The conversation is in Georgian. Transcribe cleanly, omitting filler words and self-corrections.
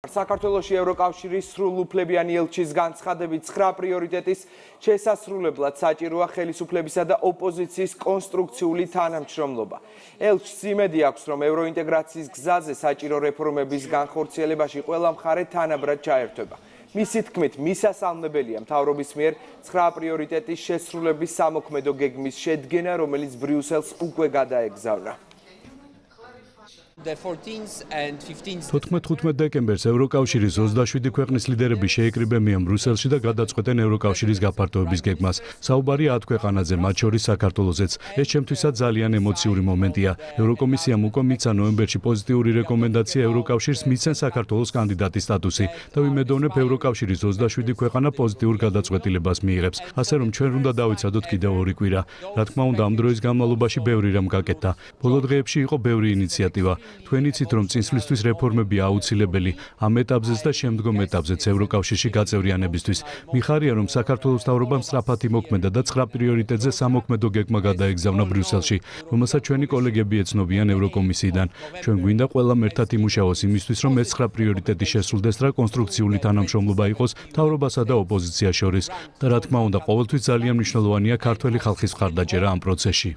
საქართველოში ევროკავშირის სრულუფლებიანი ელჩის განცხადებით 9 პრიორიტეტის შესასრულებლად საჭიროა ხელისუფლებისა და ოპოზიციის კონსტრუქციული თანამშრომლობა. ელჩს იმედი აქვს, რომ ევროინტეგრაციის გზაზე საჭირო რეფორმების განხორციელებაში ყველა მხარე თანაბრად ჩაერთვება. მისი თქმით, მისასალმებელია მთავრობის მიერ 9 პრიორიტეტის შესრულების სამოქმედო გეგმის შედგენა, რომელიც ბრიუსელს უკვე გადაეგზავნა. 14-15 დეკემბერს ევროკავშირის 27 ქვეყნის ლიდერები შეიკრიბებიან ბრიუსელში და გადაწყვეტენ ევროკავშირის გაფართოების გეგმას. საუბარია 10 ქვეყანაზე, მათ შორის საქართველოსაც. ეს ჩემთვისაც ძალიან ემოციური მომენტია. ევროკომისიამ უკვე მიცა ნოემბერში პოზიტიური რეკომენდაცია ევროკავშირს მიცენ საქართველოს კანდიდატის სტატუსი და ვიმედოვნებ ევროკავშირის 27 ქვეყანა პოზიტიურ გადაწყვეტილებას მიიღებს. ასე რომ ჩვენ უნდა დავიცადოთ კიდევ 2 კვირა. რა თქმა უნდა, ამ დროის განმავლობაში ბევრი რამ გაკეთდა. ბოლო დღეებში იყო ბევრი ინიციატივა. თქვენ იცით, რომ წინსვლისთვის რეფორმებია აუცილებელი ამ ეტაპზეც და შემდგომ ეტაპზეც ევროკავშირში გაწევრიანებისთვის. მიხარია, რომ საქართველოს მთავრობამ სწრაფად იმოქმედა და 9 პრიორიტეტზე სამოქმედო გეგმა გადაეგზავნა ბრიუსელში, რომელსაც ჩვენი კოლეგები ეცნობიან ევროკომისიიდან. ჩვენ გვინდა ყველამ ერთად იმუშაოს იმისთვის, რომ ეს 9 პრიორიტეტი შესრულდეს და კონსტრუქციული თანამშრომლობა იყოს მთავრობასა და ოპოზიციას შორის. და რა თქმა უნდა, ყოველთვის ძალიან მნიშვნელოვანია ქართველი ხალხის მხარდაჭერა ამ პროცესში.